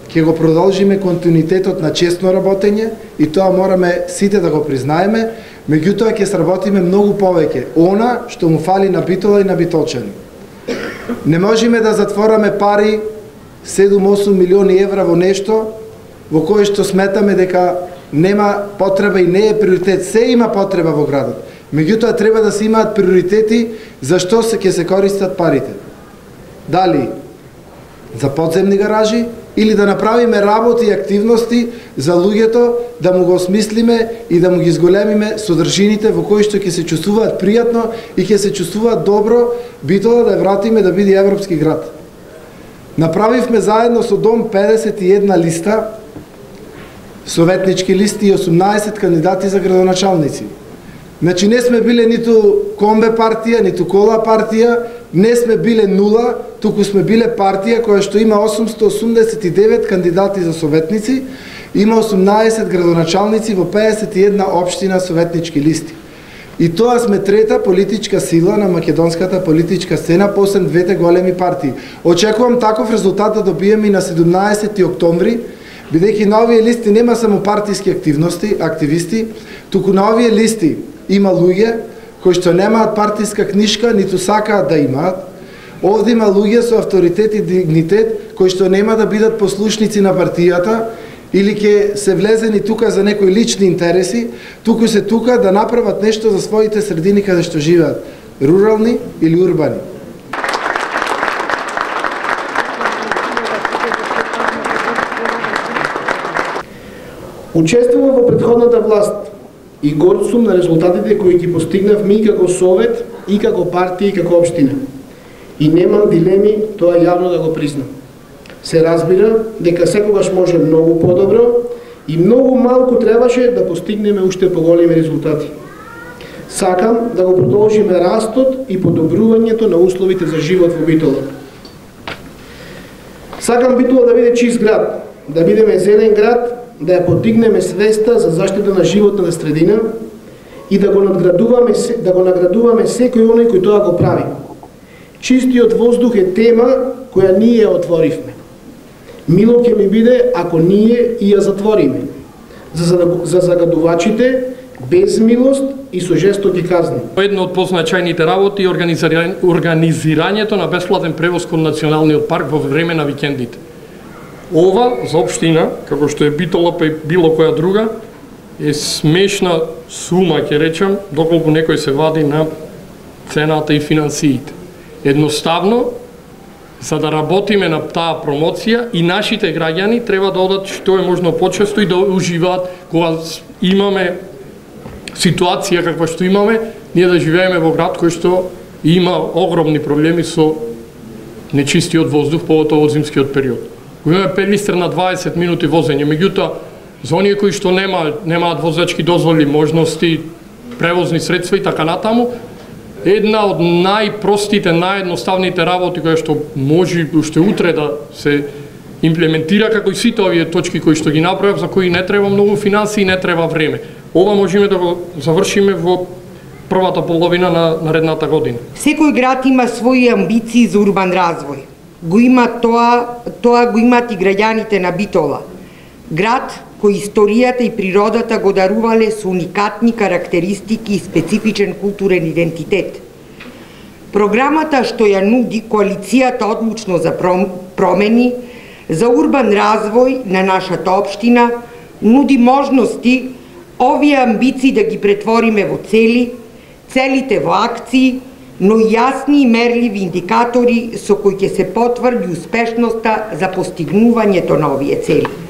ќе го продолжиме континуитетот на честно работење и тоа мораме сите да го признаеме, меѓутоа ќе сработиме многу повеќе она што му фали на Битола и на битолчани. Не можеме да затвораме пари 7-8 милиони евра во нешто во кое што сметаме дека нема потреба и не е приоритет. Се има потреба во градот. Меѓутоа треба да се имаат приоритети за што ќе се користат парите. Дали за подземни гаражи или да направиме работи и активности за луѓето, да му го осмислиме и да му ги зголемиме содржините во кои што ќе се чувствуваат пријатно и ќе се чувствуваат добро, Битола да ја вратиме да биде европски град. Направивме заедно со Дом 51 листа, советнички листи и 18 кандидати за градоначалници. Значи не сме биле ниту комбе партија, ниту кола партија, не сме биле нула, туку сме биле партија која што има 889 кандидати за советници, има 18 градоначалници во 51 општина советнички листи. И тоа сме трета политичка сила на македонската политичка сцена посеб двете големи партии. Очекувам таков резултат да добиеме и на 17 октомври, бидејќи на овие листи нема само партиски активисти, туку на овие листи има луѓе кои што немаат партиска книшка, ниту сакаат да имаат. Овде има луѓе со авторитет и дигнитет кои што нема да бидат послушници на партијата или ќе се влезени тука за некои лични интереси, туку се тука да направат нешто за своите средини каде што живеат, рурални или урбани. Учествувам во претходната власт и горд сум на резултатите кои ги постигнавме и како совет, и како партија, и како општина. И немам дилеми тоа јавно да го признам. Се разбира дека секогаш може многу подобро и многу малку требаше да постигнеме уште поголеми резултати. Сакам да го продолжиме растот и подобрувањето на условите за живот во Битола. Сакам Битола да биде чист град, да бидеме зелен град, да ја подигнеме свеста за заштита на животната средина и да го наградуваме секој оној кој тоа го прави. Чистиот воздух е тема која ние ја отворивме. Мило ќе ми биде ако ние и ја затвориме. За загадувачите без милост и со жестоки казни. Едно од позначајните работи е организирањето на бесплатен превоз кон националниот парк во време на викендите. Ова за општина, како што е Битола па и било која друга, е смешна сума, ќе речам, доколку некој се вади на цената и финансиите. Едноставно, за да работиме на таа промоција и нашите граѓани треба да одат што е можно почесто и да уживаат кога имаме ситуација каква што имаме, ние да живееме во град кој што има огромни проблеми со нечистиот воздух, поготово во зимскиот период. Го имаме пелистер на 20 минути возење, меѓутоа за оние кои што немаат возачки дозволи, можности, превозни средства и така натаму, една од најпростите, наједноставните работи која што може уште утре да се имплементира, како и сите овие точки кои што ги направив, за кои не треба многу финансии и не треба време. Ова можеме да го завршиме во првата половина на наредната година. Секој град има своји амбиции за урбан развој. Го има тоа го имат и граѓаните на Битола. Град кој историјата и природата го дарувале со уникатни карактеристики и специфичен културен идентитет. Програмата што ја нуди коалицијата одлучно за промени, за урбан развој на нашата општина, нуди можности овие амбиции да ги претвориме во цели, целите во акции, но јасни и мерливи индикатори со кои ќе се потврди успешноста за постигнувањето на овие цели.